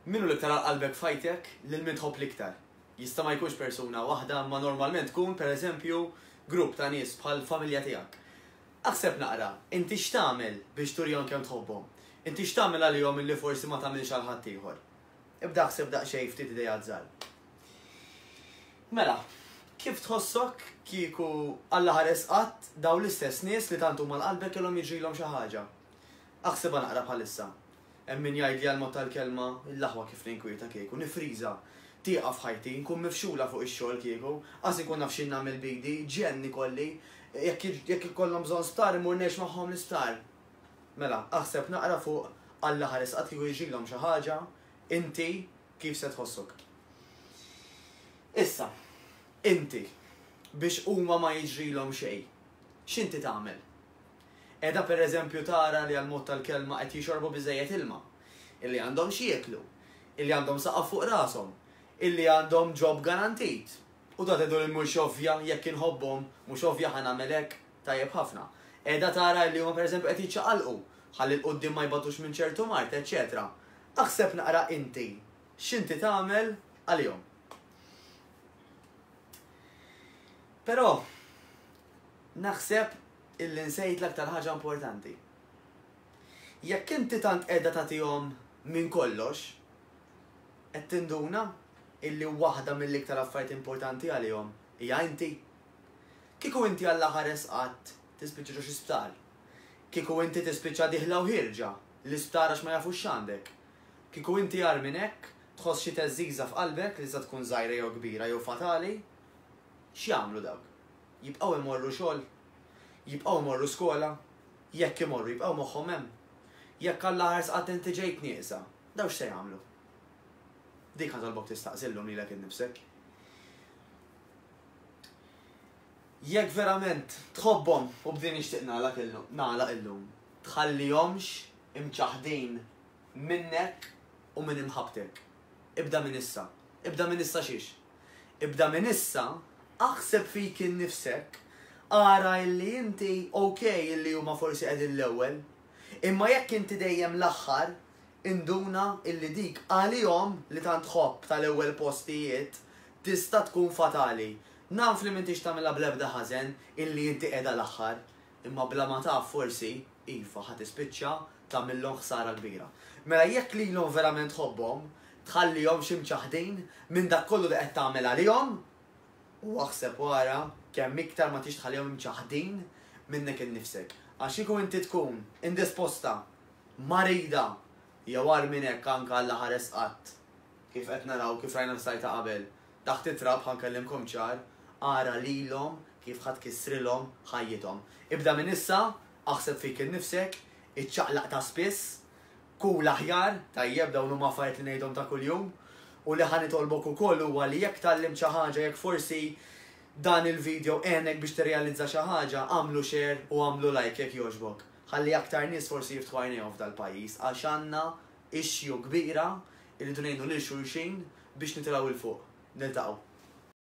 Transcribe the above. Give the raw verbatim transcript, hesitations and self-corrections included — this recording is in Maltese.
Min hu l-iktar għal qalbek f'ħajtek, lil min tħobb l-iktar? Jista' ma jkunx persuna waħda, ma normalment tkun, pereżempju, grupp ta' nies bħal familja tiegħek. Aħseb naqra, inti x'tagħmel biex turihom kemm tħobbhom? Inti x'tagħmel għalihom illi forsi ma tagħmilx għal ħaddieħor? Ibda aħseb daqsxejn ftit ideat żgħar. Mela, kif tħossok kieku Alla ħares qatt dawn l-istess nies li tant huma għal qalbek kellhom jiġrilhom xi ħaġa? Aħsibha naqra bħalissa. Hemm min jgħidli għall-mod tal-kelma, l-aħwa kif ninkwieta kieku, nifriża, tieqaf ħajti, nkun mifxula fuq ix-xogħol kieku, qas inkun naf x'in nagħmel b'idi, ġenn ikolli, jekk jekk ikollhom bżonn sptar immur ngħix magħhom l-isptar. Mela, aħseb naqra fuq Alla ħares qatt kieku jiġrilhom xi ħaġa, inti kif se tħossok. Issa, inti, biex huma ma jiġrilhom xejn, x'inti tagħmel? Qiegħda pereżempju tara li għall-mod tal-kelma qed jixorbu biżżejjed ilma, illi għandhom x'jieklu, illi għandhom saqaf fuq rashom, illi għandhom job garantit. U da tgħidu li mhux ovvja jekk inħobbhom, mhux ovvja ħa nagħmel hekk, tajjeb ħafna. Qiegħda tara illi huma pereżempju qed jiċċaqalqu ħalli 'l quddiem ma jbatux minn ċertu mard, eċċetera. Aħseb naqra inti x'inti tagħmel għalihom. Però naħseb illi nsejt l-aktar ħaġa importanti. Jekk inti tant qiegħda tagħtihom minn kollox, qed tinduna illi waħda mill-iktar affarijiet importanti għalihom hija inti. Kieku inti Alla ħares qatt tispiċċa ġo xi sptar. Kieku inti tispiċċa dieħla u ħierġa l-isptar għax ma jafux x'għandek. Kieku inti agħar minn hekk, tħoss xi theżżiża f'qalbek li tista' tkun żgħira jew kbira jew fatali, x'jagħmlu dawk? Jibqgħu imorru xogħol? Jibqgħu imorru skola? Jekk imorru, jibqgħu moħħhom hemm? Jekk Alla ħares qatt inti ġejt nieqsa, dawn x'se jagħmlu? Dik ħa tolbok tistaqsi llum lilek innifsek. Jekk verament tħobbhom, u b'din nixtieq nagħlaq illum, nagħlaq illum, tħallihomx imċaħħdin minnek u minn imħabbtek. Ibda minn issa. Ibda minn issa xiex? Ibda minn issa aħseb fik innifsek, ara illi inti ok illi huma forsi qegħdin l-ewwel, imma jekk inti dejjem l-aħħar, induna illi dik għalihom li tant tħobb tal-ewwel postijiet tista' tkun fatali. Naf li m'intix tagħmilha bl-ebda ħażen illi inti qiegħda l-aħħar, imma bla ma taf forsi, iva, ħa tispiċċa tagħmillhom ħsara kbira. Mela jekk lilhom verament tħobbhom, tħallihomx imċaħħdin minn dak kollu li qed tagħmel għalihom, u aħseb u ara kemm iktar ma tridx tħallihom imċaħħdin minnek innifsek. Għax kieku inti tkun indisposta, marida, jew agħar minn hekk anke Alla ħares qatt, kif qed naraw, kif rajna fis-slide ta' qabel, taħt it-trab, ħa nkellimkom ċar, ara lilhom kif ħa tkissrilhom ħajjithom. Ibda minn issa, aħseb fik innifsek, iċċaqlaq ta' spiss, kul aħjar, tajjeb, dawn huma affarijiet li ngħidhom ta' kuljum, u li ħa nitolbok ukoll huwa li jekk tgħallimt xi ħaġa, jekk forsi dan il-video għenek biex tirrealizza xi ħaġa, agħmlu share u agħmlu like jekk jogħġbok. Ħalli aktar nies forsi jiftħu għajnejhom f'dal-pajjiż għax għandna issue kbira, irridu ngħinu lil xulxin biex nitilgħu 'l fuq. Niltaqgħu.